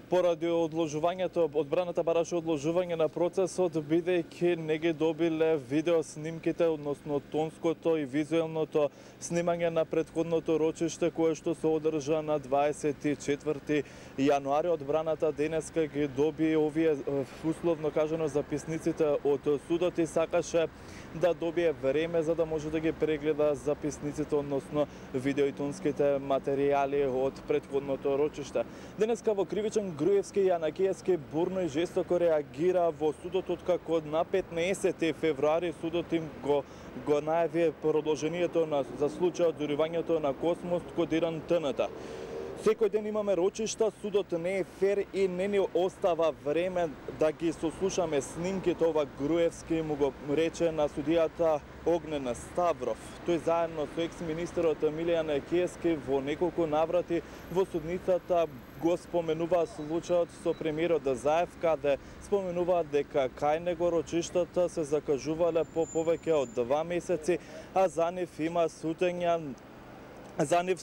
Поради одложувањето, одбраната бараше одложување на процесот, бидејќи не ги добиле видеоснимките, односно тонското и визуелното снимање на претходното рочиште, кое што се одржа на 24 јануари. Одбраната денеска ги доби овие, условно кажано, записниците од судот и сакаше да добие време за да може да ги прегледа записниците, односно видео и тонските материјали од претходното рочиште. Денеска во кривичен Груевски и Јанакиевски бурно и жестоко реагира во судот, откако на 15 февруари судот им го најави продолжението за случајот зорувањето на Космос кодиран ТНТ. Секој ден имаме рочишта, судот не е фер и не ни остава време да ги сослушаме снимките. Ова Груевски му го рече на судијата Огнен Ставров. Тој заедно со екс-министерот Милијан Киевски во неколку наврати во судницата го споменува случајот со премиерот Заев, каде споменуваат дека кај него рочиштата се закажувале по повеќе од 2 месеци, а за нив има судења. За нив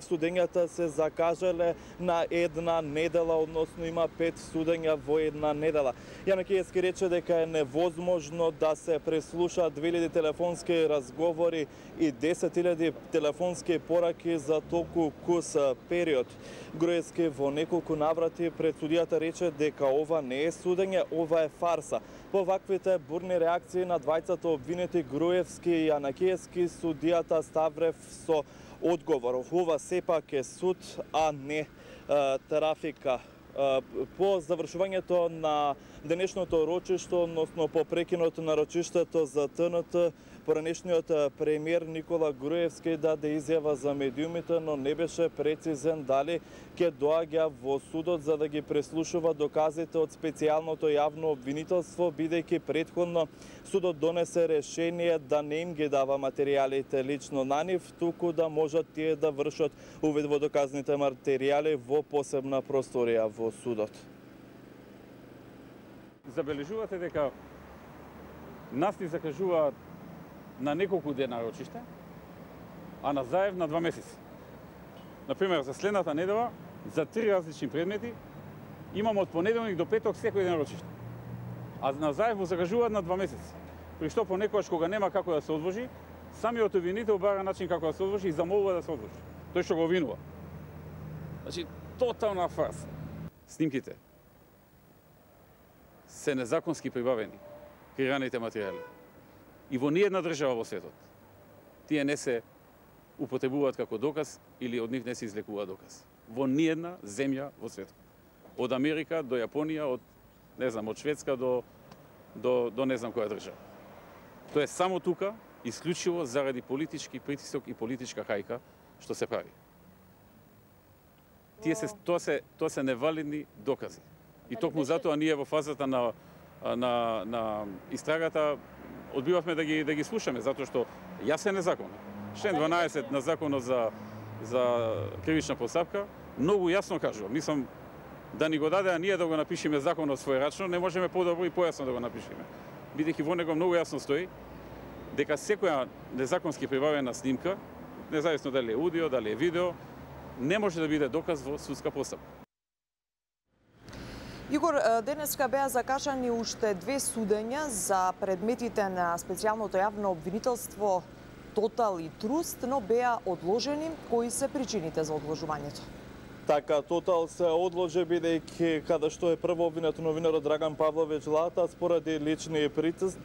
судењата се закажале на една недела, односно има 5 судења во една недела. Јанакиевски рече дека е невозможно да се преслушаат 2000 телефонски разговори и 10.000 телефонски пораки за толку кус период. Груевски во неколку наврати пред судијата рече дека ова не е судење, ова е фарса. По ваквите бурни реакции на двајцата обвинети Груевски и Јанакиевски, судијата Ставрев со одговор: ова сепак е суд, а не трафика. По завршувањето на денешното рочиште, односно по прекинот на рочиштето за ТНТ, поранешниот премиер Никола Груевски даде изјава за медиумите, но не беше прецизен дали ќе доаѓа во судот за да ги преслушува доказите од специјалното јавно обвинителство, бидејќи претходно судот донесе решение да не им ги дава материјалите лично на нив, туку да можат тие да вршат увид во доказните материјали во посебна просторија во судот. Забележувате дека нас ни закажуваат на неколку дена рочиште, а на Заев на 2 месеци. Например, за следната недела, за 3 различни предмети, имам од понеделник до петок секој ден рочиште. А на Заев го закажуваат на 2 месеци. При што понекогаш кога нема како да се одложи, самиот обвинител бара начин како да се одложи и замолува да се одложи. Тој што го обвинува. Значи, тотална фарса. Снимките се незаконски прибавени, креираните материјали. И во ниедна држава во светот тие не се употребуваат како доказ или од нив не се излекува доказ. Во ниедна земја во светот. Од Америка до Јапонија, од не знам, од Шведска до не знам која држава. Тоа е само тука, исклучиво заради политички притисок и политичка хајка што се прави. Тоа се невалидни докази. И токму затоа ние во фазата на истрагата одбивавме да ги слушаме, затоа што јас е незаконно. Член 12 на законот за кривична постапка многу јасно кажува. Мислам да ни го даде, а ние да го напишеме законот својрачно, не можеме подобро и појасно да го напишеме. Бидејќи во него многу јасно стои дека секоја незаконски прибавена снимка, независно дали е аудио, дали е видео, не може да биде доказ во судска постапка. Игор, денеска беа закажани уште 2 судења за предметите на специјалното јавно обвинителство Тотал и Труст, но беа одложени. Кои се причините за одложувањето? Така, Тотал се одложи бидејќи каде што е прво обвинет новинарот Драган Павлович Лата, споради лични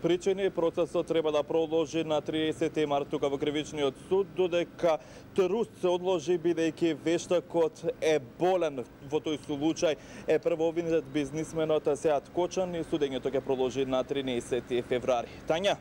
причини, процесот треба да продолжи на 30 март тука во Кривичниот суд, додека Труст се одложи бидејќи вештакот е болен. Во тој случај е прво обвинет бизнисменот Сеат Кочан и судењето ќе продолжи на 13 февруари. Тања?